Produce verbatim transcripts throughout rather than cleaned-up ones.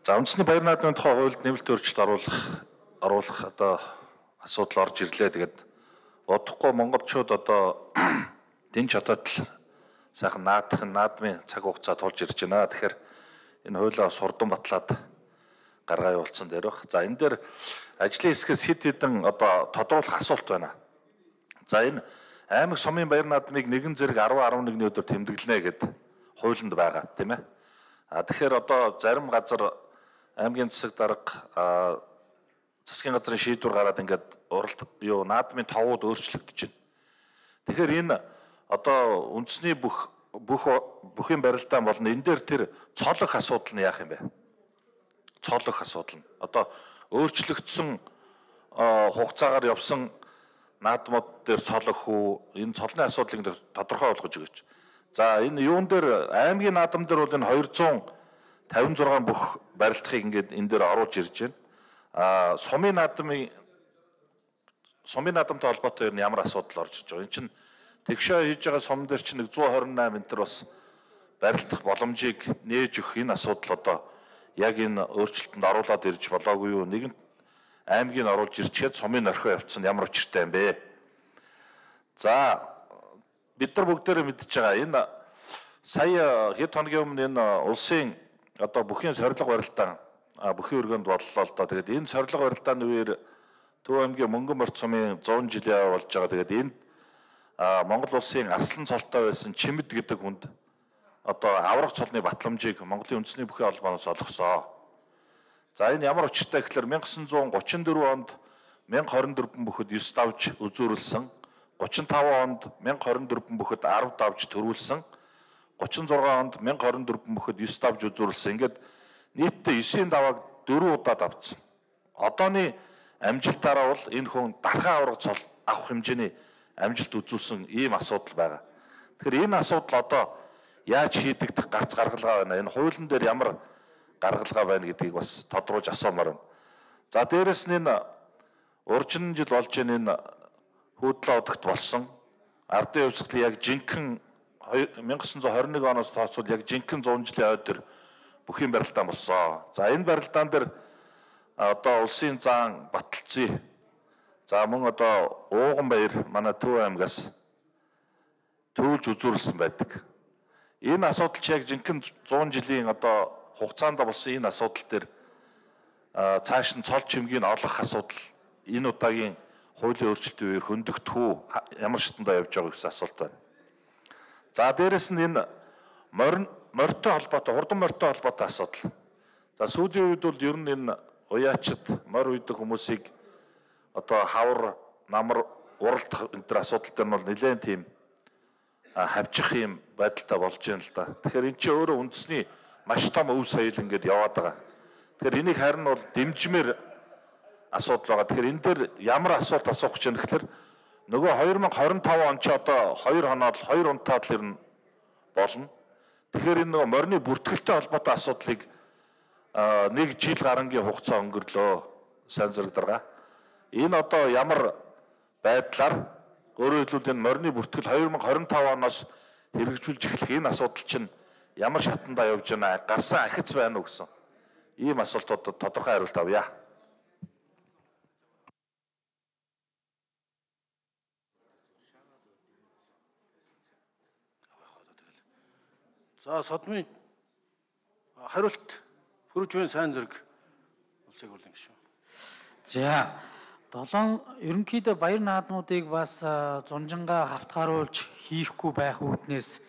За үндэсний баяр наадмын тухай хуульд нэмэлт өөрчлөлт оруулах оруулах одоо асуудал орж ирлээ. Тэгээд удахгүй монголчууд одоо дэн чадаад л сайхан наадах наадмын цаг хугацаа тулж ирж байна. Тэгэхээр энэ хуулиа сурдан батлаад гаргаа явуулсан дээр баг. За энэ дээр ажлын хэсгээс хэд хэдэн одоо тодруулах асуулт байна. За энэ аймаг сумын баяр наадмыг нэгэн зэрэг арван арван нэгний өдөр тэмдэглэнэ гэд хуулинд байгаа тийм ээ. А тэгэхээр одоо зарим газар аймгийн засаг дарга засгийн газрын шийдвэр гараад ингээд уралд юу наадмын товууд өөрчлөгдөж байна. Тэгэхээр энэ одоо үндэсний бүх бүх бүхийн барилдаан болно. Энэ дээр тэр цолох асуудал нь яах юм бэ? Цолох асуудал нь. Одоо өөрчлөгдсөн хугацаагаар явсан наадмууд дээр цолох уу? Энэ цолны асуудлыг тодорхой болгож өгөөч. За энэ юун дээр аймгийн наадам дээр бол энэ двести тавин зургаан бүх барилдахыг ингээд энэ дээр оруулж ирж байна. А сумын наадмын сумын наадамтай холбоотой ер нь ямар асуудал орж иж байгаа. Энэ чинь тэгшээ хийж байгаа сум дээр чинь нэг зуун хорин восемь метр бас барилдах боломжийг нээж өгөх энэ асуудал одоо яг энэ өөрчлөлтөнд оруулаад ирж болоогүй юу? Нэгэн аймгийг оруулж ирчихэд сумын орхио явуулсан ямар учиртай юм бэ? За бид нар бүгдээрээ мэдж байгаа энэ сая хэд хоногийн өмнө энэ улсын одоо бүхийн сорилго барилдаан бүхийн өргөнд боллоо л доо. Тэгээд энэ сорилго барилдааны үеэр Төв аймгийн Мөнгөн морьт сумын сто жилийн болж байгаа. Тэгээд энэ Монгол улсын арслан цолтой байсан Чимэд гэдэг хүнд одоо аврах цолны батламжийг Монголын үндэсний бүхийн холбооноос олгосон. За энэ ямар учиртай гэхээр 천구 гуравчдөрөв онд 천구 хорин дөрвөн бүхэд девять давж үзүүрлсэн, гуравчдав онд 천구 хорин дөрвөн бүхэд десять давж төрүүлсэн, гуравч зургаан онд 천구 хорин дөрвөн бүхэд девять давж үзүүрлсэн. Ингээд нийтдээ девять давааг дөрвөн удаа давцсан. Одооны амжилтаараа бол энэ хүн дархан аврах цол авах хэмжээний амжилт үзүүлсэн ийм асуудал байгаа. Тэгэхээр энэ асуудал одоо яаж шийдэгдэх гарц гаргалгаа байна? Энэ хуулийн дээр ямар гаргалгаа байна гэдгийг бас тодруулж асуумаар байна. За дээрэс нь энэ уржин жил болж энэ хуудлаа удагт болсон ардын хувьсгалын яг жинхэнэ 천구 двадцать one оноос тооцвол яг жинхэнэ сто жилийн ойд төр бүхийн барилдаан болсон. За энэ барилдаан дээр одоо улсын заан Баталцын за мөн одоо Ууган баяр манай Төв аймгаас төвлж үзүүрлсэн байдаг. Энэ асуудал ч яг жинхэнэ сто жилийн одоо хугацаанд болсон энэ асуудал дээр цааш нь цол чимгийг олох асуудал энэ удаагийн хуулийн өөрчлөлтийн үеэр хөндөгдөх үү, ямар шатндаа явж байгаа гэсэн асуулт байна. За дээрэс нь энэ морин морьтой холбоотой, хурдан морьтой холбоотой асуудал. За сүүлийн үед бол ер нь энэ уяачид морь үйдэг хүмүүсийг одоо хавар, намар, уралдах энэ төр асуудал дээр нь бол нэлээд тийм хавчих юм байдалтай болж байна л да. Тэгэхээр эн чинь өөрөө үндэсний маш том өв соёл ингээд яваад байгаа. Тэгэхээр энийг харин бол дэмжмээр асуудал байгаа. Тэгэхээр энэ дээр ямар асуулт асуух гэж байна гэхээр нөгөө two thousand twenty-five он ч одоо хоёр хоноод хоёр унтаад л ирнэ болно. Тэгэхээр энэ нөгөө морины бүртгэлтэй холбоотой асуудлыг нэг жил гарангийн хугацаа өнгөрлөө сайн зэрэг дарга. Энэ одоо ямар байдлаар өөрөөр хэлбэл энэ морины бүртгэл two thousand twenty-five оноос хэрэгжүүлж эхлэх энэ асуудал чинь ямар шатндаа явж байна? Гарсан ахиц байна уу гэсэн ийм асуултуудад тодорхой хариулт авъя. За содмын хариулт хүрэж байна сайн зэрэг улсыг хурлын гишүүн. За долоон ерөнхийдөө баяр наадмуудыг бас зунжангаа хавтгааруулж хийхгүй байх үүднээс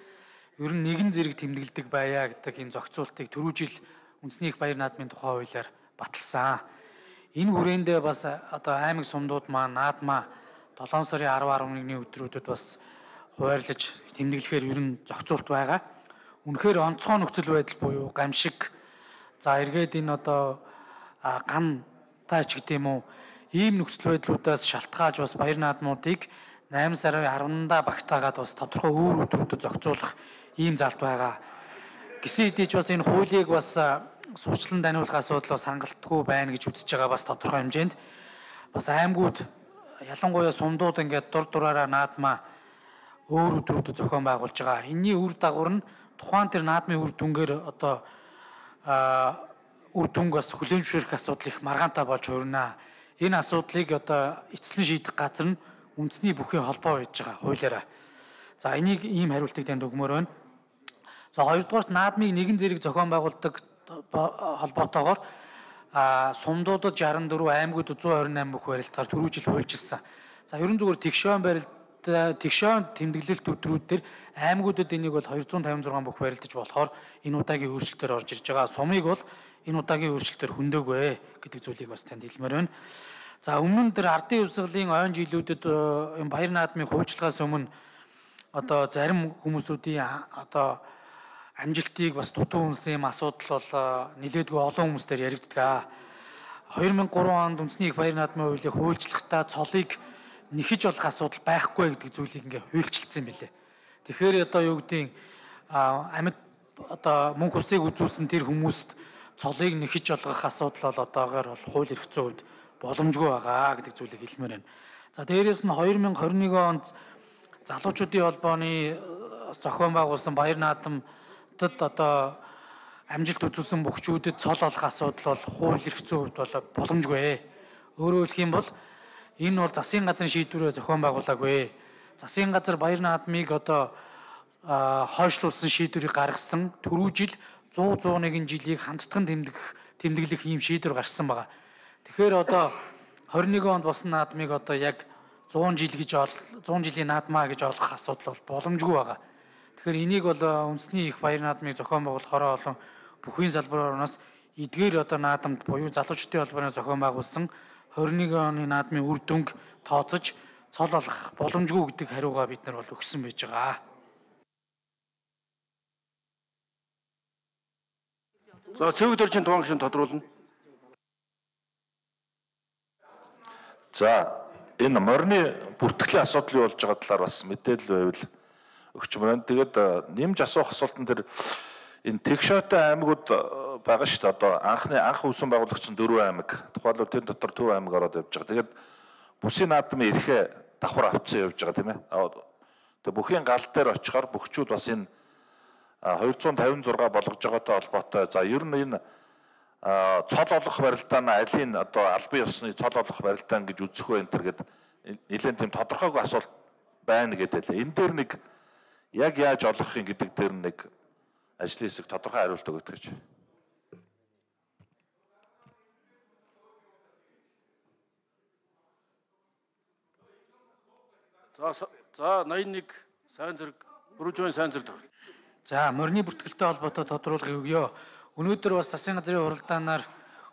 ер нь нэгэн зэрэг тэмдэглэдэг байя гэдэг энэ зохицуултыг түрүү жил үндэсний их баяр наадмын тухай хуулиар баталсан. Энэ хүрээндээ бас одоо аймаг сумдууд маань наадмаа долоон сарын арав арван нэгний өдрүүдэд бас хуваарлаж тэмдэглэхээр ер нь зохицуулт байгаа. Үнэхээр онцгой нөхцөл байдал буюу гамшиг за эргээд энэ одоо гам таач гэдэг юм уу ийм нөхцөл байдлуудаас шалтгаалж бас баяр наадмуудыг eight сарын ten-ндаа багтаагаад бас тодорхой өөр өдрүүдэд зохицуулах ийм залт байгаа. Гэсэн хэдий ч бас энэ хуулийг бас сурчлан таниулах асуудал бас хангалтгүй байна гэж үзэж байгаа бас тодорхой хэмжээнд бас аймагуд ялангуяа сумдууд ингээд дур дураараа наадмаа өөр өдрүүдэд зохион байгуулж байгаа. Энэний үр дагавар нь тухайн тэр наадмын үр дүнгээр одоо үр дүнг бас хүлээмжшүүлэх асуудал их маргаантай болж хуурна. Энэ асуудлыг одоо эцэслэн шийдэх газар нь үндэсний бүхий холбоо байж байгаа хуулиараа. За энийг ийм хариултыг танд өгмөр байна. За хоёрдугаарт наадмыг нэгэн зэрэг зохион байгуулдаг холбоотойгоор а сумдуудад шестьдесят дөрвөн, аймагуудад one twenty-eight бүх барилдгаар түрүү жил хуульчилсан. За ерөн зүгээр тэгшөөн барилд тэгшөөн тэмдэглэлт өдрүүд дээр аймагуудад энийг бол two fifty-six бүх барилдаж болохоор энэ удаагийн өөрчлөлтөөр орж ирж байгаа. Сумыг бол энэ удаагийн өөрчлөлтөөр хөндөөгүй гэдэг зүйлийг бас танд хэлмээр байна. За өмнө нь тэр ардын хувьсгалын ойн жилүүдэд энэ баяр наадмын хуульчлагаас өмнө одоо зарим хүмүүсүүдийн одоо амжилтыг бас дутуу үнсэн юм асуудал бол нэлээдгүй олон хүмүүстээр яригддаг. two thousand three онд үндэсний их баяр наадмын хуулийг хуульчлахдаа цолыг нэхэж болох асуудал байхгүй гэдэг зүйлийг ингээ хуульчилсан юм билээ. Тэгэхээр одоо юу гэдгийг амьд одоо мөнх усыг үзүүлсэн тэр хүмүүст цолыг нэхэж олгох асуудал бол одоогоор бол хууль эрх зүйн хувьд боломжгүй байгаа гэдэг зүйлийг хэлмээр байна. За дээрээс нь two thousand twenty-one онд залуучуудын холбооны зохион байгуулсан баяр наадам одоо амжилт үзүүлсэн бөхчүүдэд цол олох асуудал бол хууль эрх зүйн хувьд бол боломжгүй. Өөрөөр хэлэх юм бол энэ бол засгийн газрын шийдвэрээр зохион байгуулаагүй. Засгийн газар баяр наадмыг одоо хойшлуулсан шийдвэрийг гаргасан түрүү жил one hundred one жилийг хамтдаган тэмдэх тэмдэглэх ийм шийдвэр гарсан байгаа. Тэгэхээр одоо twenty-one онд болсон наадмыг одоо яг one hundred жил гэж ол one hundred жилийн наадмаа гэж олох асуудал бол боломжгүй байгаа. Тэгэхээр энийг бол үндэсний их баяр наадмыг зохион байгуулахаараа болон бүхий салбарынаас эдгээр одоо наадамд буюу залуучдын холбооны зохион байгуулсан twenty-one оны наадмын үр дүнг тооцож цол олох боломжгүй гэдэг хариугаа бид нар бол өгсөн байж байгаа. За цэвэг дөржин туван гишүүн тодруулна. За энэ морины бүртгэлийн асуудал юу болж байгаа талаар бас мэдээлэл байвал өгчмөр байна. Тэгээд нэмж асуух асуултан дээр энэ тэгшөөтэй аймагуд байгаа шүү дээ. Одоо анхны анх үүсэн байгуулагчсан дөрвөн аймаг. Тухайлбал тэр дотор Төв аймаг ороод явж байгаа. Тэгээд бүсийн наадмын эрхээ давхар авцсан явж байгаа тийм ээ. Тэгээд бүхийн гал дээр очихоор бөхчүүд бас энэ two fifty-six болгож байгаатай холбоотой. За ер нь энэ цол олох барилдаа нь алийн одоо албан ёсны цол олох барилдаа гэж үзэх вэ энэ төр гээд нэлээд тийм тодорхойгүй асуулт байна гэдэг л. Энэ дээр нэг яг яаж олох юм гэдэг дээр нэг ажлын хэсэг тодорхой хариулт өгөх гэж. За за eighty-one сайн зэрэг бүржүүн сайн зэрэг. За морины бүртгэлтэй холбоотой тодруулгыг өгье. Өнөөдөр бас засгийн газрын уралдаанаар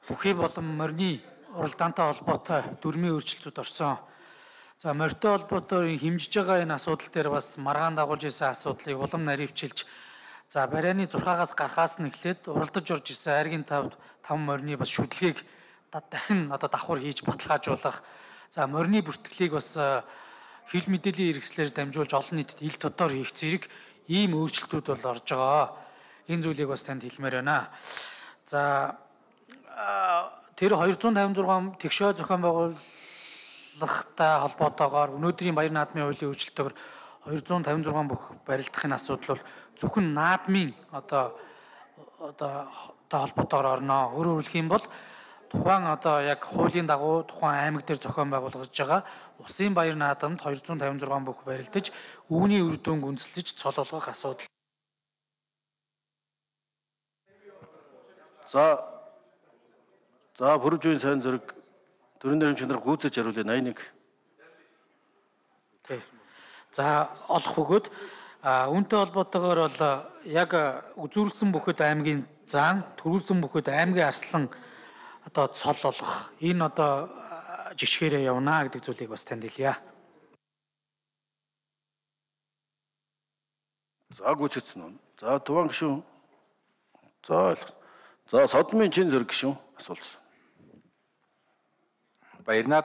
бүхий болон морины уралдаантай холбоотой дүрмийн өөрчлөлтүүд орсон. За морьтой холбоотой хэмжиж байгаа энэ асуудал дээр бас маргаан дагуулж исэн асуудлыг улам наривчилж за барианы зурхаагаас гарахаас нь эхлээд уралдаж орж исэн айргийн тавд таван морины бас шүдлгийг дахин одоо давхар хийж баталгаажуулах. За морины бүртгэлийг бас хил мэдээллийн хэрэгслээр дамжуулж олон нийтэд ил тодор хийх зэрэг ийм өөрчлөлтүүд бол орж байгаа. Энэ зүйлийг бас танд хэлмээр байна. За тэр two fifty-six тэгшөө зохион байгуулалттай холбоотойгоор өнөөдрийн баяр наадмын хуулийн өөрчлөлтөөр two fifty-six бүх барилдахын асуудал бол зөвхөн наадмын одоо одоо холбоотойгоор орно. Өөрөөр хэлэх юм бол тухайн одоо яг хуулийн дагуу тухайн аймаг дээр зохион байгуулагдж байгаа улсын баяр наадамд two fifty-six бүх барилдаж үүний үр дүнг үндэслэж цол олгох асуудал. За за бүржүүн сайн зэрэг төрийн нэрийн чанар гүйцэж хариулъя eighty-one. Тэг. За олох бөгөөд үүнтэй холбоотойгоор бол яг үзүүлсэн бүхэд аймгийн заан төрүүлсэн бүхэд аймгийн арслан одоо цол олох энэ одоо жишгээрээ явна гэдэг зүйлийг бас танд хэлье. За гүйцэтсэн нь. За туван гишүүн. За за содмын чин зэрэг гишүүн асуулсан. Баярнаад